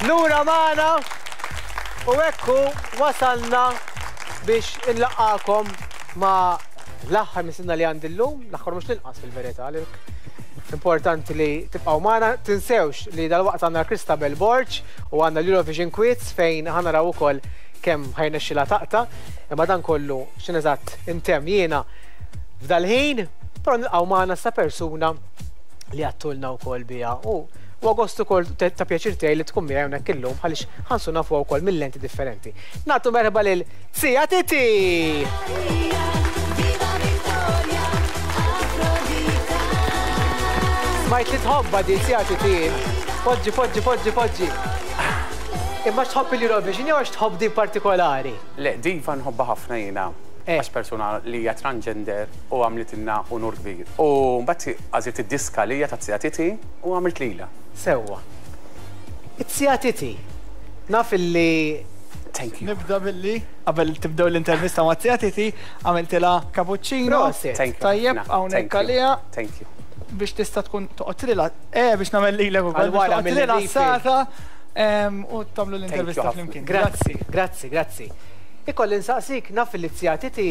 Lura magħna u hekk hu wasalna biex inlaqqagħkom ma' l-aħħar mistiedna li għandi llum, l-aħħar mhux l-inqas fil-verità għalhekk importanti li tibqgħu magħna. Tinsewx li dalwaqt għandna Christabel Borg u għandna l-Eurovision Quiz fejn ħa naraw ukoll kemm ħa jirnexxilha taqta'. Imma dan kollu x'inhu eżatt intemm jiena f'dal-ħin, però nilqgħu magħna sa persuna li għattulna wkoll biha u huwa gost ukoll ta' pjaċir tiegħi li tkun miegħi hawnhekk illum għaliex ħa nsir nafuha wkoll minn lenti differenti. Nagħtu merħba lil Zia Titi! Smajt li tħobbha di Zia Titi. Poġġi, poġġi, poġġi, poġġi. Imma x'tħobb il-Eurovision jew għax tħobb din partikolari? Le, diva nħobbha ħafna jiena. Għax persuna li hija transgender u għamlitilna unur kbir. U mbagħad għażilt id-diska għalija ta' Zia Titi u għamilt lilha. Sewwa. It-Zia Titi. Naf illi. Thank you. Nibda billi, qabel tibdew l-intervista ma' Zia Titi, għamiltilha cappuccino. Prosit. Thank you. Tajjeb, hawnhekk għaliha. Thank you. Biex tista' tkun toqgħod rilha. Eh, biex nagħmel lilek ukoll. Għal wara Biex toqgħod rilassata u tagħmlu l-intervista flimkien. Grazzi, grazzi, grazzi. Ikolli nsaqsik, naf li z-zija Titi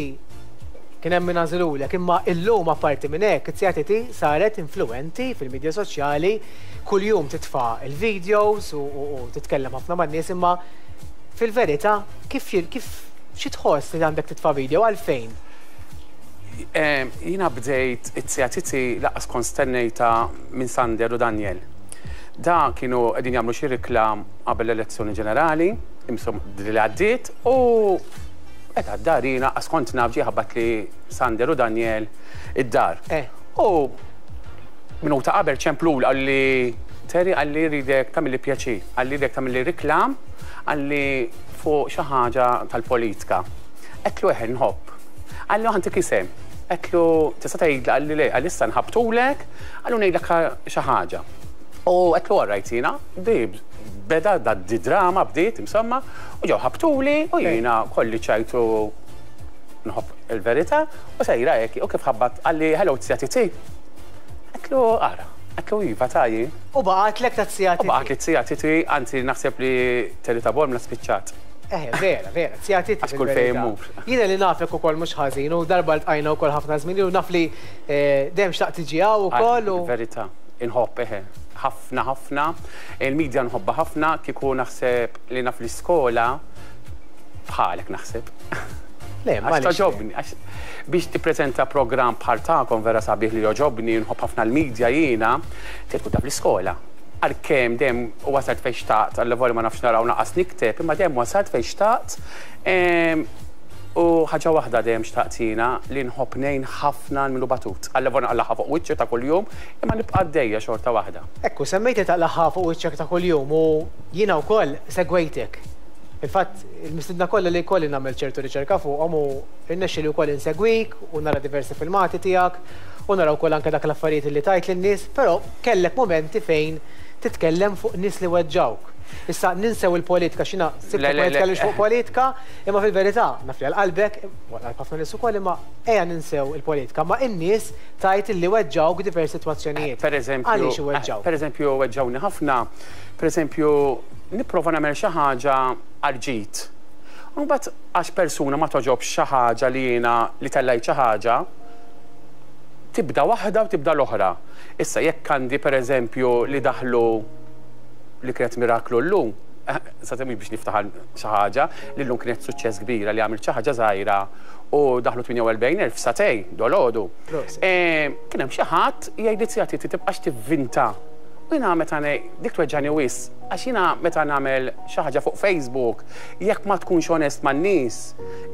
kien hemm min għażilulek, imma illum apparti minn hekk, iz-zija Titi saret influwenti fil-midja soċjali, kuljum titfa' l-videos u titkellem ħafna man-nies, imma fil-verità kif kif xi tħoss li għandek titfa' video, għalfejn? Jiena bdejt iz-zija Titi lanqas kont stennejtha minn Sander u Daniel. Da kienu qegħdin jagħmlu xi riklam qabel l-elezzjoni ġenerali, imsom li għaddiet, u qed għad-dar jiena qas kont naf ġie ħabbatli Sander u Daniel id-dar. U minuta qabel ċempluli qalli Terry qalli rridek tagħmilli pjaċir, qalli rridek tagħmilli riklam, qalli fuq xi ħaġa tal-politika. Għedtlu eħe nħobb. Qalli ħa ntik isem. Għedtlu tista' tgħidli qalli le, qalli issa nħabbtulek, qalli u ngħidlek xi ħaġa. U għedtlu all right jiena, di beda da di drama bdiet insomma, u ġew ħabtuli u jiena kolli ċajtu nħobb il-verità u sejra hekk u kif ħabbat qalli hello zja Titi. Għedtlu ara, għedtlu iva ta' jien. U baqgħetlek ta' zja Titi. U baqgħetli zija Titi, anzi naħseb li Terry ta' Bormla spiċċat. Eħe, vera, vera, zja Titi. Għax kull fejn immur. Jiena li nafek ukoll mhux ħażin u darba ltqajna wkoll ħafna żmien ilu naf li dejjem xtaqt tiġi hawn ukoll u. Verità, inħobb eħe, ħafna ħafna. Il-media nħobbha ħafna, kieku naħseb li naf l-iskola bħalek naħseb. Le, Għax togħġobni, għax biex tippreżenta programm bħal tagħkom vera sabiħ li jogħġobni, nħobb ħafna l-media jiena, trid tkun taf l-iskola. Għalkemm dejjem wasalt fejn xtaqt, allavolja ma nafx nara u lanqas nikteb, imma dejjem wasalt fejn xtaqt. U ħaġa waħda dejjem xtaqt jiena li nħobb ngħin ħafna 'l min hu batut. Allavolja nqallagħha fuq wiċċi ta' kuljum, imma nibqa' għaddejja xorta waħda. Ekku, semmejt li taqlagħha fuq wiċċek ta' kuljum u jiena wkoll segwejtek. Fil-fatt, il-mistiedna kollha li jkolli nagħmel ċertu riċerka fuqhom u rnexxieli wkoll insegwik u nara diversi filmati tiegħek u nara wkoll anke dak l-affarijiet li tgħid lin-nies, però kellek mumenti fejn titkellem fuq nies li weġġgħuk. Issa ninsew il-politika x'jiena sibtek ma titkellimx fuq politika, imma fil-verità naf li għal qalbek, u għal qalb ħafna nies ukoll, imma ejja ninsew il-politika, imma in-nies tgħid illi weġġgħuk diversi sitwazzjonijiet. Għaliex iweġġgħuk? Pereżempju weġġgħuni ħafna, pereżempju nipprova nagħmel xi ħaġa għall-ġid. U mbagħad għax persuna ma togħġobx xi ħaġa li jiena li tellajt xi ħaġa, tibda waħda u tibda l-oħra. Issa jekk għandi pereżempju li daħlu li kienet miraklu llum, sa mhux biex niftaħar xi ħaġa, li llum kienet suċċess kbira li għamilt xi ħaġa żgħira u daħlu 48,000 f'satej dolodu. Kien hemm xi ħadd jgħidli zija Titi tibqax tivvinta. U jiena meta ngħid dik tweġġani wisq għax jiena meta nagħmel xi ħaġa fuq Facebook, jekk ma tkunx onest man-nies,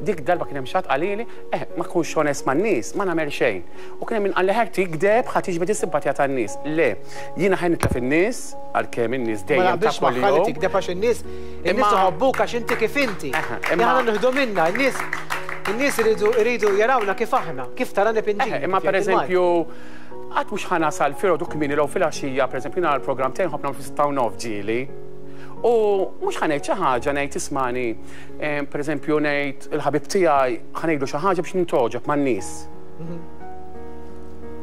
dik darba kien hemm xi ħadd qalili, eh ma tkunx onest man-nies, ma nagħmel xejn. U kien hemm min qalli ħer tikdeb ħa tiġbed is-simpatija tan-nies. Le, jiena ħa nitlef in-nies, għalkemm in-nies Ma dejjem ta' naqbilx magħha li kuljum. tikdeb għax in-nies in-nies iħobbuk għax inti kif inti. Imma Aħna nieħdu minna, in-nies in-nies iridu iridu jarawna kif aħna, kif tarani pinġini. Imma pereżempju qatt mhux ħa nasal filgħodu kmieni jew filgħaxija, pereżempju jiena l-programm tiegħi nħobb nagħmlu fis-sitta u nofs ġieli. U mhux ħa ngħid xi ħaġa ngħid ismani, pereżempju ngħid il-ħabib tiegħi ħa ngħidlu xi ħaġa biex nintgħoġob man-nies.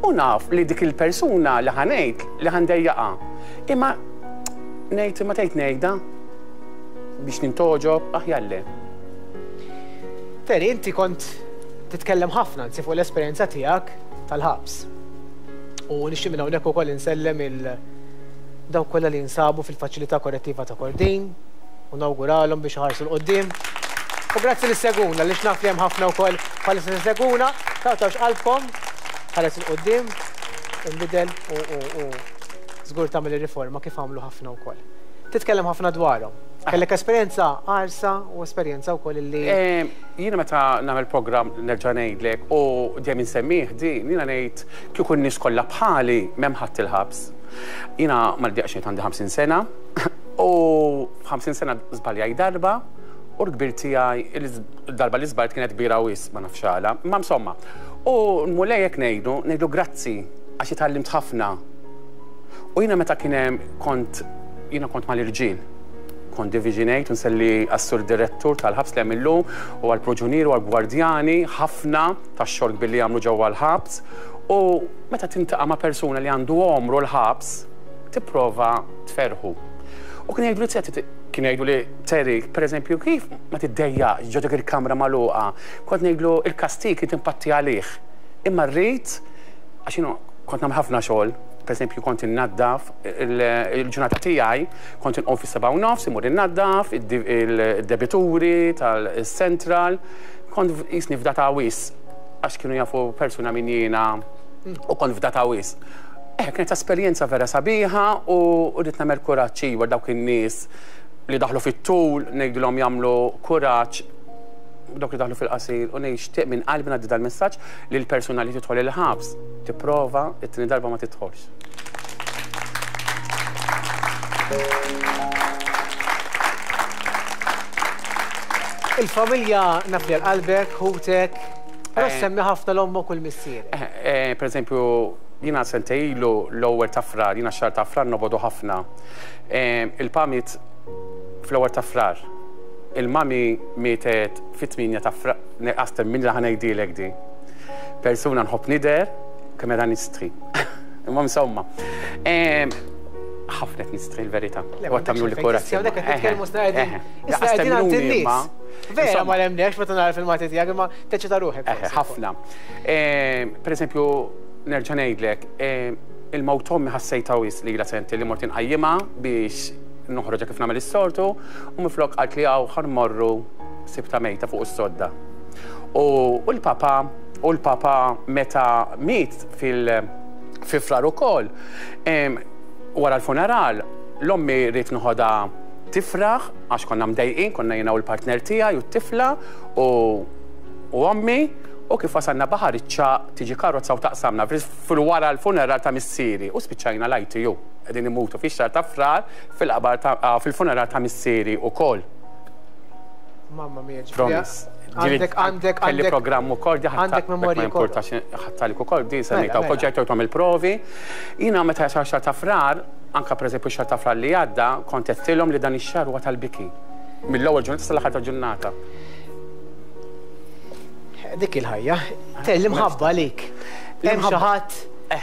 U naf li dik il-persuna li ħa ngħid li ħa ndejjaqha. Imma ngħid imma tgħid ngħidha. biex nintogħġob, aħjar le. Terry, inti kont titkellem ħafna anzi fuq l-esperjenza tiegħek tal-ħabs. U nixtieq minn hawnhekk ukoll insellem il dawk kollha li jinsabu fil-faċilità korrettiva ta' Kordin u nawguralhom biex iħarsu 'l quddiem. U grazzi li ssegwuna għaliex naf li hemm ħafna wkoll bħalissa li segwuna. Taqtgħux qalbkom, ħares 'il quddiem, inbidel u u u żgur tagħmel ir-riforma kif għamlu ħafna wkoll. Titkellem ħafna dwarhom. Kellek esperjenza qarsa u esperjenza wkoll illi. Jiena meta nagħmel programm nerġa' ngħidlek u dejjem insemmih din, jiena ngħid kieku n-nies kollha bħali m'hemm ħadd il-ħabs. Jiena ma niddeqx ngħid għandi 50 sena u f'50 sena żbaljajt darba u l-kbir tiegħi il-darba li żbaljt kienet kbira wisq ma nafx għala. Imma insomma. U l-Mulej hekk ngħidu, ngħidlu grazzi għax itgħallimt ħafna. U jiena meta kien hemm kont jiena kont mal-irġiel. Kont division 8 u nselli għas-sur direttur tal-ħabs li hemm illum u għall-proġunieri u għall-gwardjani ħafna tax-xogħol kbir li jagħmlu ġewwa l-ħabs. U meta tintaqa' ma' persuna li għandu għomru l-ħabs, tipprova tferrħu. U kien jgħidlu li kien jgħidu li Terry, pereżempju, kif ma tiddejjaqx ġo dik il-kamra magħluqa? Kont ngħidlu il-kastig kien timpatti għalih. Imma rrid għax jiena kont nagħmel ħafna xogħol, pereżempju kont innaddaf il-ġurnata tiegħi kont inqum fis-7:30 immur innaddaf id-debituri tal-central, kont qisni fdata wisq għax kienu jafu persuna min jiena u kont fdata wisq. Eh, kienet esperjenza vera sabiħa u rrid nagħmel kuraġġ iva dawk in-nies li daħlu fit-tul ngħidilhom jagħmlu kuraġġ dawk li daħlu fil-qasir u nixtieq minn qalbi ngħaddi dal-messaġġ li l-persuna li tidħol il-ħabs tipprova it-tieni darba ma tidħolx. Il-familja naf li għal qalbek, ħutek, però eh. semmi ħafna l-ommok u l-missierek. Eh, eh, per eżempju, jiena sentej ilu l-ewwel ta' frar, jiena xahar ta' frar nobodu ħafna. Il-pamit fl-ewwel ta' frar. Il-mami mietet fit-8 ta' frar, Aster min li ħa ngħidilek di. Persuna nħobb nidher, kemm era nistħi. Imma insomma. Ħafna qed nistħi l-verità. U qed tagħmlu li kuraġġ. Hawnhekk qed nitkellmu sna qegħdin. Issa qegħdin għand in-nies. Vera ma nemnekx meta nara filmati tiegħek imma teċċita ruħek. Ħafna. Per eżempju, nerġa' ngħidlek, il-mewt ommi ħassejtha wisq lilha senti li mort inqajjimha biex noħroġha kif nagħmel is-soltu u minflok qalt li hawn ħa nmorru sibtha mejta fuq is-sodda. U l-papa, u l-papa meta miet fil fi Frar ukoll, wara l-funeral, l-ommi ridt noħodha tifraħ għax konna mdejqin, konna jiena u l-partner tiegħi u t-tifla u u ommi, u kif wasalna Baħar iċ-Ċagħaq tiġi karozza u taqsamna fil-wara l-funeral ta' missieri u spiċċajna l-ITU qegħdin immutu fix-xahar ta' Frar fil-qabar ta' fil-funeral ta' missieri ukoll. Mamma mia, ġifieri. Promise. Għandek, għandek, Kelli programm ukoll, di għandek memorji. Ma importax ħattalik ukoll, di semmejta wkoll mela. ġejt il-provi. Jiena meta jasal xahar ta' Frar, anka pereżempju xahar ta' Frar li għadda, kont għedtilhom li dan ix-xahar huwa tal-biki. Mill-ewwel ġurnata sal-aħħar tal-ġurnata. Dik il-ħajja. Te l-imħabba għalik. Hemm xi ħadd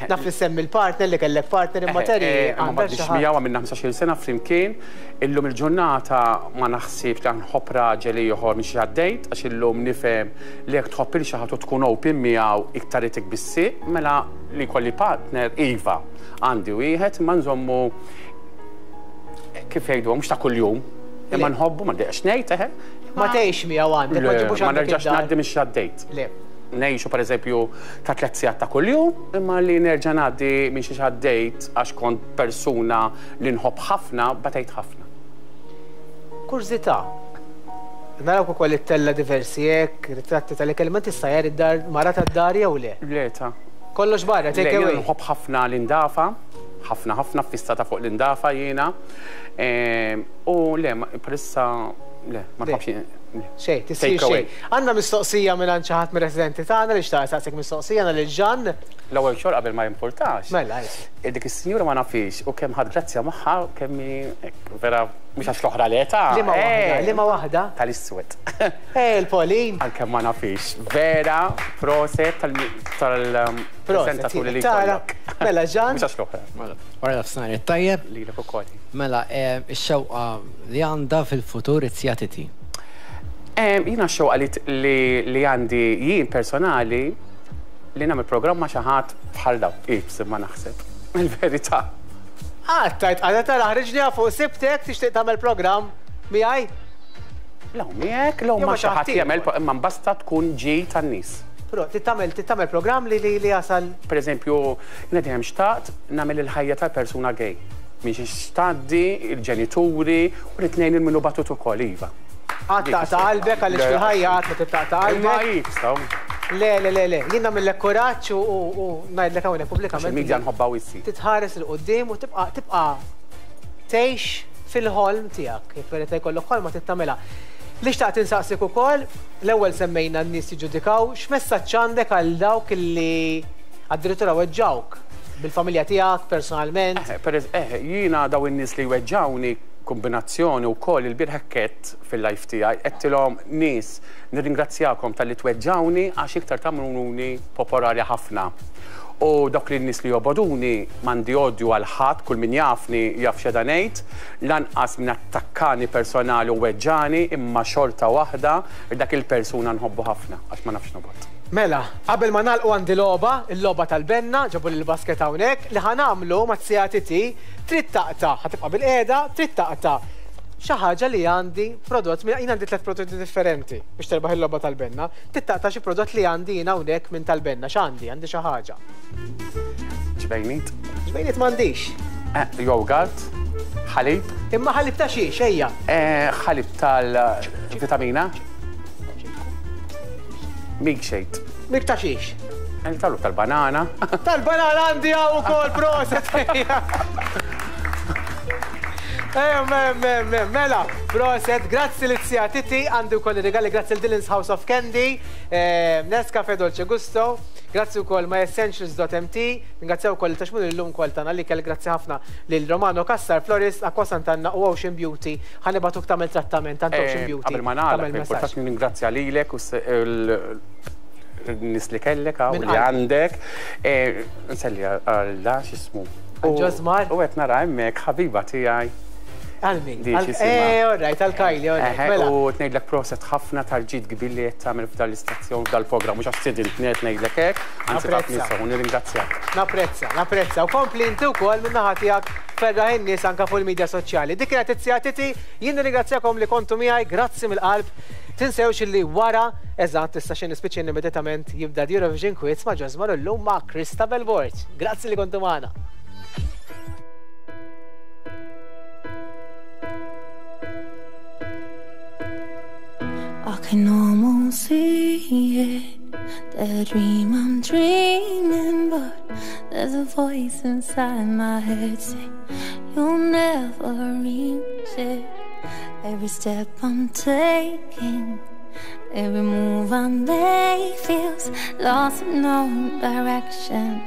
naf li semmi l-partner li kellek partner imma Terry. Ma m'għadniex miegħu għamilna 15-il sena flimkien. Illum il-ġurnata ma naħsibx li nħobb raġel ieħor minn xi għaddejt għax illum nifhem li jekk tħobb lil xi ħadd u tkun open miegħu iktar itik bis-sieq, mela li jkolli partner iva għandi wieħed imma nżommu kif jgħidu mhux ta' kuljum. Imma nħobbu ma ndejqx ngħid eħe. Ma tgħix miegħu għandek, ma ġibux Ma nerġax ngħaddi minn xi għaddejt. Le. Ngħixu pereżempju ta' tliet sigħat ta' kuljum, imma li nerġa' ngħaddi minn xiex għaddejt għax kont persuna li nħobb ħafna, batejt ħafna. Kurżità. Narawk ukoll ittella' diversi hekk, ritratti tal-ikel, imma inti ssajjar id-dar, mara tad-dar jew le? Le ta. Kollox barra, take away? Le, jiena nħobb ħafna l-indafa, ħafna ħafna ffissata fuq l-indafa jiena. U le, bħalissa le, ma nħobbx. Xejn, tisir xejn. Għandna mistoqsija minn xi ħadd mir-residenti tagħna li xtaq saqsik mistoqsija għandna lil Ġan. L-ewwel xogħol qabel ma jimpurtax. Mela, Dik is-sinjura ma nafix u kemm ħadd grazzja magħha kemm vera mhux għax l-oħra l-età. Liema waħda, liema waħda? Tal-iswed. Il-Polin. Għalkemm ma nafix. Vera, proset tal-preżentaturi li jkollok. Mela, Ġan. Mhux għax l-oħra. Mela, wara nofsinhar it-tajjeb. Lilek ukoll. Mela, ix-xewqa li għandha fil-futur it-Zja Titi. Jiena x-xewqa li għandi jien personali li nagħmel programm ma' xi ħadd bħal dawn, iebs imma naħseb. Il-verità. Għad tajt għadha tara ħriġniha fuq sibtek tixtieq tagħmel programm miegħi? Law miegħek, law ma' xi ħadd jagħmel imma mbasta tkun ġi tan-nies. Però trid tagħmel programm li li jasal. Pereżempju, jiena dejjem xtaqt nagħmel il-ħajja tal-persuna gay. Minn xi xtgħaddi, il-ġenituri u rrid ngħin lil min hu batut ukoll, iva. Qatt taqta' qalbek għaliex fil-ħajja qatt ma trid taqta' qalbek. Imma iebsa. Le, le, le, le. Jien nagħmillek kuraġġ u ngħidlek hawnhekk pubblikament. Għax il-media nħobbha wisq. Titħares 'il quddiem u tibqa' tibqa' tgħix fil-ħolm tiegħek. Jekk vera jkollok ħolma trid tagħmilha. Li xtaqt insaqsik ukoll, l-ewwel semmejna n-nies jiġġudikaw, x'messaġġ għandek għal dawk li addirittura weġġgħuk bil-familja tiegħek personalment? Eh, eh, jiena daw in-nies li weġġgħuni kombinazzjoni wkoll il-bieraħ hekk għedt fil-live tiegħi, għedtilhom nies nirringrazzjakom talli tweġġgħuni għax iktar tagħmluni popolari ħafna. U dawk li n-nies li jobogħduni m'għandi odju għal ħadd, kull min jafni jaf x'qiegħda ngħid, lanqas min attakkani personali u weġġagħni imma xorta waħda dak il-persuna nħobbu ħafna għax ma nafx nobgħod. Mela, qabel ma nagħlqu għandi logħba, il-logħba tal-benna, ġabuli l-basket hawnhekk, li ħa nagħmlu mat-siegħa TT, trid taqta', ħa tibqa' bilqiegħda, trid taqta' xi ħaġa li għandi prodott, jien għandi tlett prodotti differenti biex terbaħ il-logħba tal-benna, trid taqta' xi prodott li għandi jien hawnhekk minn tal-benna, x'għandi? Għandi xi ħaġa. Ġbejniet. Ġbejniet m'għandix. Eh, yogurt, ħalib. Imma ħalib ta' xiex, ejja. Eh, ħalib tal-vitamina. Milkshake. Milk ta' xiex? Tal tal-banana. Tal-banana għandi hawn ukoll proset. Mela, proset, grazzi li t Titi, għandi wkoll regali grazzi l-Dylan's House of Candy, Nescafe Dolce Gusto, grazzi wkoll myessentials.mt, ringrazzjaw ukoll taxmur illum kol tagħna li kell grazzi ħafna lil Romano Cassar Florist, Aqua Sant'Anna u Ocean Beauty, ħa nibagħtuk tagħmel trattament għand Ocean Beauty. Qabel ma nagħlaq, importanti nirringrazzja lilek u n-nies li kellek hawn li għandek. Nselli għal da x'ismu. Ġosmar. U qed nara hemmhekk ħabiba tiegħi. Għal min? Eh, all right, għal Kylie, all right. Mela. U ngħidlek proset ħafna tal-ġid kbir li qed tagħmel f'dan l-istazzjon f'dal-programm, mhux għax stidintni qed ngħidlek hekk, anzi taf min sew, nirringrazzjak. Napprezza, napprezza. U kompli inti wkoll min-naħa tiegħek ferraħ in-nies anke fuq il-midja soċjali. Dik kienet it-Zija Titi, jien nirringrazzjakom li kontu miegħi, grazzi mill-qalb. Tinsewx li wara, eżatt, issa xi nispiċċa immedjatament jibda the Eurovision Quiz ma' Ġosmar u llum ma' Christabel Borg. Grazzi li kontu magħna. I can almost see it, the dream I'm dreaming, but there's a voice inside my head saying you'll never reach it. Every step I'm taking, every move I make feels lost with no direction.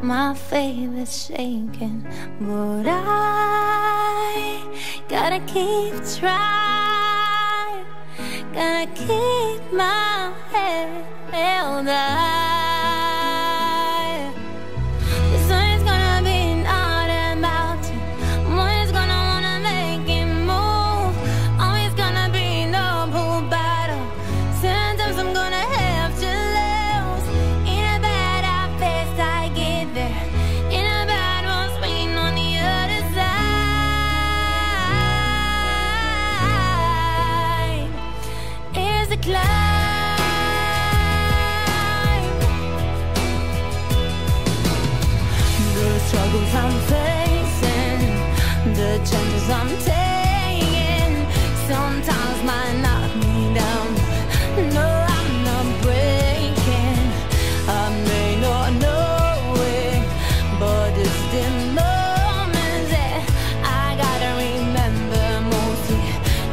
My faith is shaking, but I gotta keep trying, gotta keep my head held high. The sun's gonna be not about you. One's gonna wanna make it move. Always gonna be no uphill battle. Sometimes I'm gonna have to lose. In a bad I fast I get there. In a bad one's waiting on the other side. Here's the climb. The struggles I'm facing, the chances I'm taking, sometimes might knock me down. No, I'm not breaking. I may not know it, but it's the moments that I gotta remember mostly.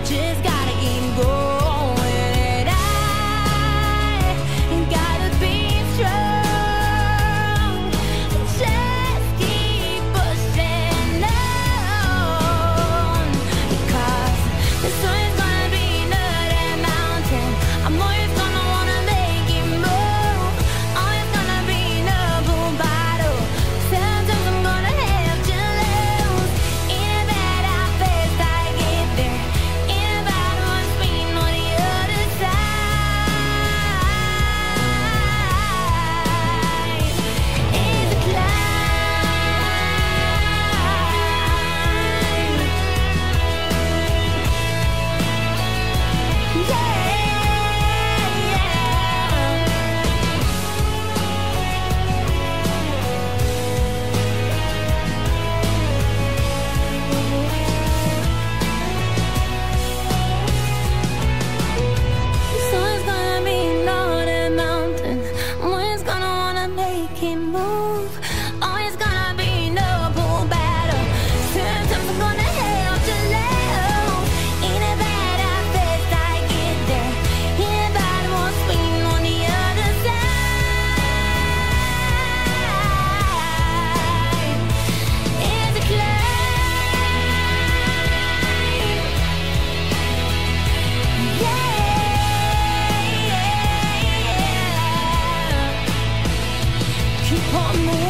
Just gotta keep going. Keep on moving.